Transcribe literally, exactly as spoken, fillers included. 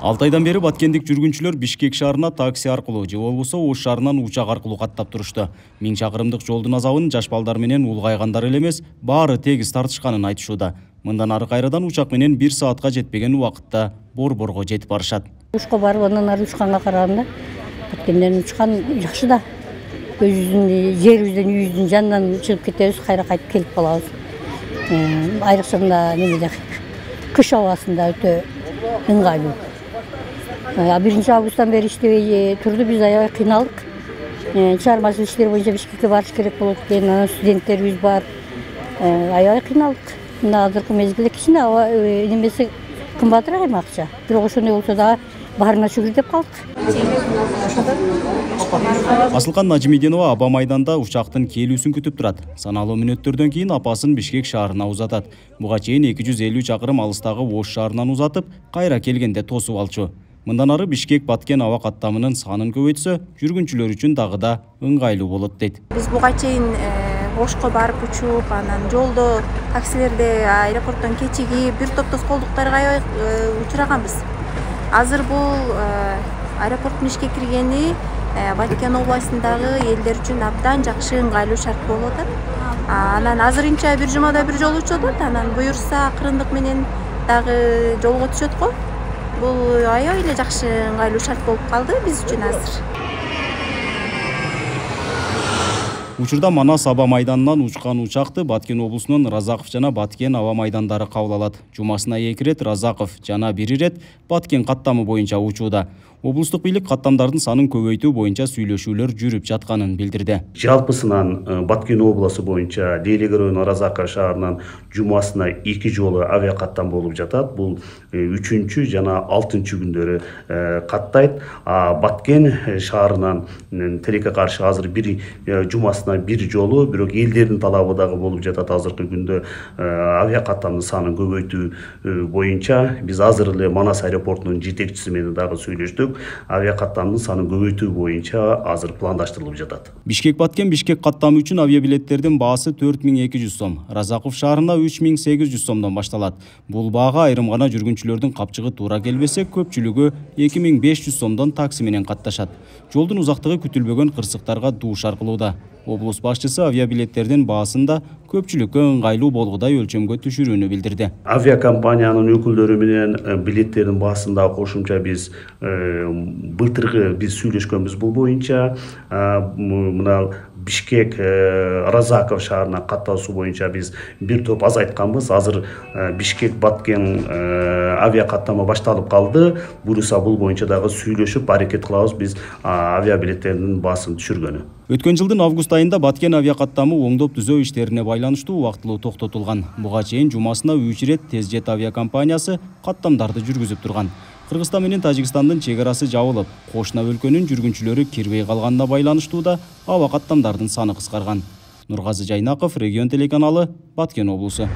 алты айдан бери баткендик жүргүнчүлөр Бишкек шаарына такси аркылуу же болбосо Ош шаарынан учак аркылуу каттап турушту. Миң чакырымдык жолдун азабын жаш балдар менен улгайгандар эле эмес, баары тегиз тартышканын айтышууда. Мындан ары кайрадан учак менен бир саатка жетпеген убакытта Борборго жетип барышат. Ушка барып андан ары учканга караганда Баткенден учкан жакшы да. Өзүбүздүн жерибизден, үйүбүздүн жанынан чыгып кетебиз, кайра кайтып келип калабыз. Айрыкча мына немеде кыш абасында өтө ыңгайлуу. биринчи августтан бери иштебей турду, биз аябай кыйналдык. Чыгармачылык иштер боюнча Бишкекке барыш керек болот экен, анан студенттерибиз бар. Аябай кыйналдык. Мына азыркы мезгилде кичине аба немеси кымбатыраак эми акча. Бирок ошондой болсо дагы баарына шүгүр деп калдык. Асылкан Нажимиденова Аба майданда учактын келүүсүн күтүп турат. Саналуу мүнөттөрдөн кийин апасын Бишкек шаарына узатат. Буга чейин эки жүз элүү чакырым алыстагы Ош шаарынан узатып, кайра келгенде тосуп алчу. Мындан ары Бишкек Баткен аба каттамынын санын көбөйтсө, жүргүнчүлөр үчүн дагы да ыңгайлуу болот дейт. Биз буга чейин Ошко барып учуп, анан жолдо таксилерде аэропорттон кечигип, бир топ тоскоолдуктарга аябай учураганбыз. Азыр бул аэропорттун ишке киргени Баткен областындагы элдер үчүн абдан жакшы, ыңгайлуу шарт болуп атат. Анан азырынча бир жумада бир жолу учуп атат, анан буюрса акырындык менен дагы жолго түшөт го. Бул аябай эле жакшы, ыңгайлуу шарт болуп калды биз үчүн азыр. Учурда Манас аба майданынан учкан учакты Баткен облусунун Разаков жана Баткен аба майдандары кабыл алат. Жумасына эки ирет Разаков жана бир ирет Баткен каттамы боюнча учууда. Облустук бийлик каттамдардын санын көбөйтүү боюнча сүйлөшүүлөр жүрүп жатканын билдирди. Жалпысынан Баткен обласу боюнча Делеге району Разаков шаарынан жумасына эки жолу авиа каттам болуп жатат. Бул үчүнчү жана алтынчы күндөрү каттайт. А Баткен шаарынан тилекке каршы азыр бир жумасына бир жолу, бирок элдердин талабы дагы болуп жатат. Азыркы күндө авиа каттамдын санын көбөйтүү боюнча биз азыр эле Манас аэропортунун жетекчиси менен дагы сүйлөштүк. Авиа каттамдын санын көбөйтүү боюнча азыр пландаштырылып жатат. Бишкек Баткен Бишкек каттамы үчүн авиабилеттердин баасы төрт миң эки жүз сом, Разаков шаарына үч миң сегиз жүз сомдон башталат. Бул баага айрым гана жүргүнчүлөрдүн капчыгы туура келбесе, көпчүлүгү эки миң беш жүз сомдон такси менен катташат. Жолдун узактыгы күтүлбөгөн кырсыктарга дуушар кылууда. Облус башчысы авиабилеттердин баасын да көпчүлүккө ыңгайлуу болгудай өлчөмгө түшүрүүнү билдирди. Авиакомпаниянын өкүлдөрү менен билеттердин баасын да кошумча биз былтыркы биз сүйлөшкөнбүз бул боюнча. Мына Бишкек Разаков шаарына каттоосу боюнча биз бир топ азайтканбыз. Азыр Бишкек Баткен авиа каттама башталып калды. Буюрса бул боюнча дагы сүйлөшүп аракет кылабыз биз авиабилеттердин баасын түшүргөнү. Өткөн жылдын август айында Баткен авиа каттамы оңдоп түзөө иштерине байланыштуу убактылуу токтотулган. Буга чейин жумасына үч ирет Тезжет авиакомпаниясы каттамдарды жүргүзүп турган. Кыргызстан менен Тажикстандын чек арасы жабылып, кошуна өлкөнүн жүргүнчүлөрү кирбей калганына байланыштуу аба каттамдардын саны кыскарган. Нургазы Жайнаков, Регион телеканалы, Баткен облусу.